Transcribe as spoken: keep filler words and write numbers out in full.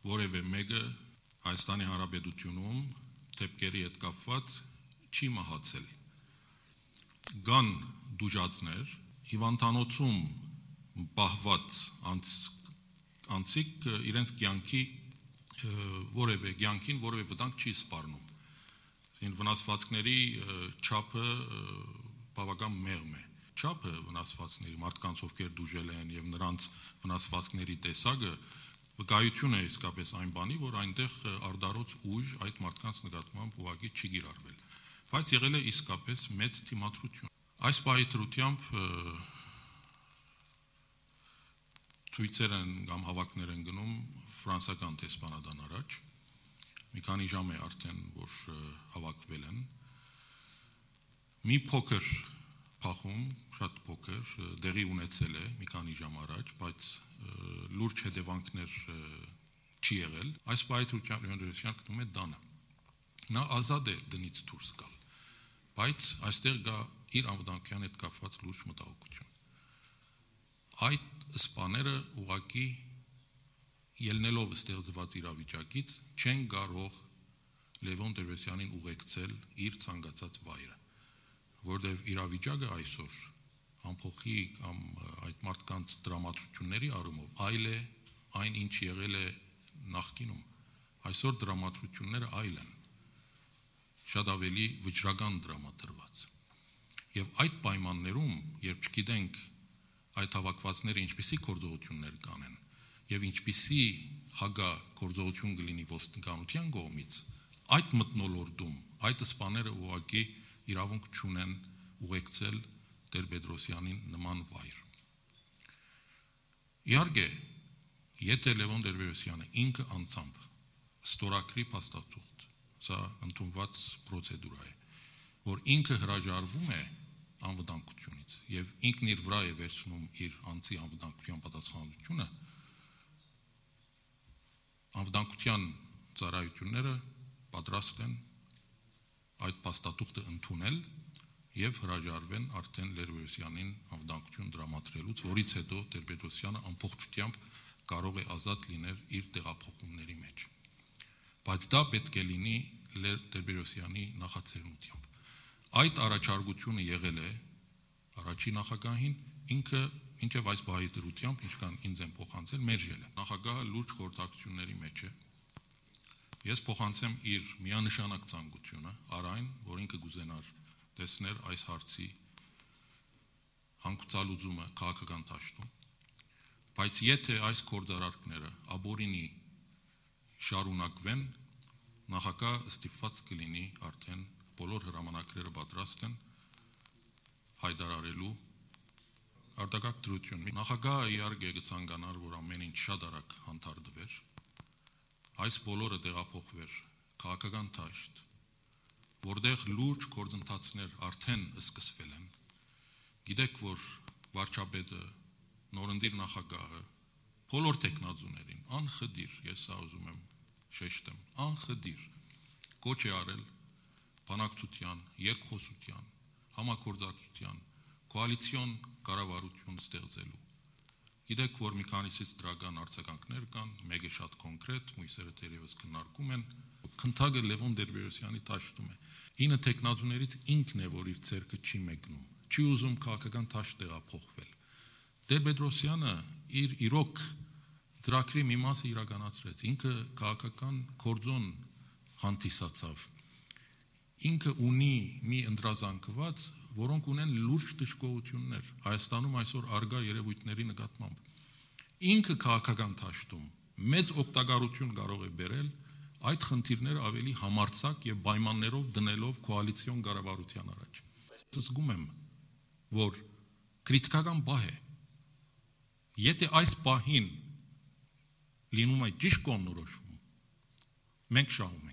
որևէ մեկը Հայաստանի Հանրապետությունում դեպքերի հետ կապված չի մահացել։ Կան դուժածներ, հիվանդանոցում պահված անձիկ իրենց կյանքի որևէ կյանքին որևէ վտանգ չի սպառնում։ Վնասվածքների չափը բավական մեղմ է։ Չափը վնասվածքների մարդկանց, ովքեր դուժել են եւ նրանց վնասվածքների տեսակը վկայություն է իսկապես այն բանի, որ այնտեղ արդարոց ուժ այդ մարդկանց նկատմամբ ուղղակի չի գիրառվել, բայց եղել է իսկապես մեծ թիմադրություն։ Այս պահի դրությամբ ցույցեր են կամ հավաքներ են գնում ֆրանսիական դեսպանատան առաջ, մի քանի ժամ է արդեն, որ հավաքվել են, մի փոքր փախում, շատ փոքր, դեղի ունեցել է մի քանի ժամ առաջ, բայց լուրջ հետևանքներ չի եղել, այս պահի դրությամբ գտնում է դանը։ Նա ազատ է դնից դուրս գալ, բայց այստեղ կա իր անվտանգության հետ կապված լուրջ մտահոգություն։ Այդ սպաները ուղղակի ելնելով ստեղծված իրավիճակից չեն կարող Լևոն Տեր-Պետրոսյանին ուղեկցել իր ցանկացած վայրը, որտեղ իրավիճակը այսօր ամփոխի կամ այդ մարդկանց դրամատրությունների առումով այլ է այն, ինչ եղել է նախկինում։ Այսօր դրամատրությունները այլ են, շատ ավելի վճռական դրամատրված։ Եվ այդ պայմաններում, երբ չգիտենք այդ հավաքվածները ինչպիսի գործողություններ կանեն եւ ինչպիսի հագա գործողություն կլինի ոստիկանության կողմից, այդ մթնոլորտում այդ սպաները ուղղակի իրավունք չունեն ուղեկցել Տեր-Պետրոսյանին նման վայր։ Իհարկե, եթե Լևոն Տեր-Պետրոսյանը ինքը անձամբ ստորագրի փաստաթուղթ, սա ընդունված պրոցեդուրա է, որ ինքը հրաժարվում է անվտանգությունից եւ ինքն իր վրա է վերցնում իր անձի անվտանգության պատասխանատվությունը, անվտանգության ծառայությունները պատրաստ են այդ փաստաթուղթը ընդունել եւ հրաժարվեն արդեն Տեր-Պետրոսյանին անվտանգություն դրամատրելուց, որից հետո Տեր-Պետրոսյանը ամբողջությամբ կարող է ազատ լինել իր տեղափոխումների մեջ։ Բայց դա պետք է լինի Տեր-Պետրոսյանի նախաձեռնությամբ։ Այդ առաջարկությունը եղել է առաջի նախագահին, ինքը ինչև այս բահի դրությամբ, ինչքան ինձ են փոխանցել, մերժել է։ Նախագահը լուրջ խորհրդակցությունների մեջ է։ Ես փոխանցեմ իր միանշանակ ցանկությունը, արայն, որ ինքը կուզենար տեսնել այս հարցի հանգուցալուծումը քաղաքական դաշտում, բայց եթե այս գործարարքները ապօրինի շարունակվեն, նախագահը ստիպված կլինի արդեն բոլոր հրամանակները պատրաստ են հայտարարելու արտակարգ դրություն։ Նախագահը իհարկե կցանկանար, որ ամեն ինչ շատ արագ հանդարտվեր, այս բոլորը տեղափոխվեր քաղաքական դաշտ, որտեղ լուրջ գործընթացներ արդեն սկսվել են։ Գիտեք, որ վարչապետը, նորընտիր նախագահը, բոլոր տեխնազուներին անխդիր, ես սա ուզում եմ շեշտեմ, անխդիր կոչ է արել բանակցության, երկխոսության, համագործակցության, կոալիցիոն կառավարություն ստեղծելու։ Գիտեք, որ մի քանիսից դրական արձագանքներ կան, մեկը շատ կոնկրետ, մյուսերը թերևս քննարկում են։ Քննարկը Լևոն Տեր-Պետրոսյանի դաշտում է։ ինը տեխնազուներից ինքն է, որ իր ցերկը չի մեկնում, չի ուզում քաղաքական դաշտ տեղափոխվել։ Տեր-Պետրոսյանը իր իրոք ծրագրի մի մասը իրականացրեց, ինքը քաղաքական կորձոն հանդիսացավ։ Ինքը ունի մի ընդրազանգված, որոնք ունեն լուրջ դժգոհություններ Հայաստանում այսօր արգա երևույթների նկատմամբ։ Ինքը քաղաքական դաշտում մեծ օգտակարություն կարող է բերել այդ խնդիրները ավելի համարձակ եւ պայմաններով դնելով կոալիցիոն կառավարության առաջ։ Զգում եմ, որ քրիտիկական բահ է։ Եթե այս պահին լինում է ճիշտ կողմնորոշվում, մենք շահում ենք։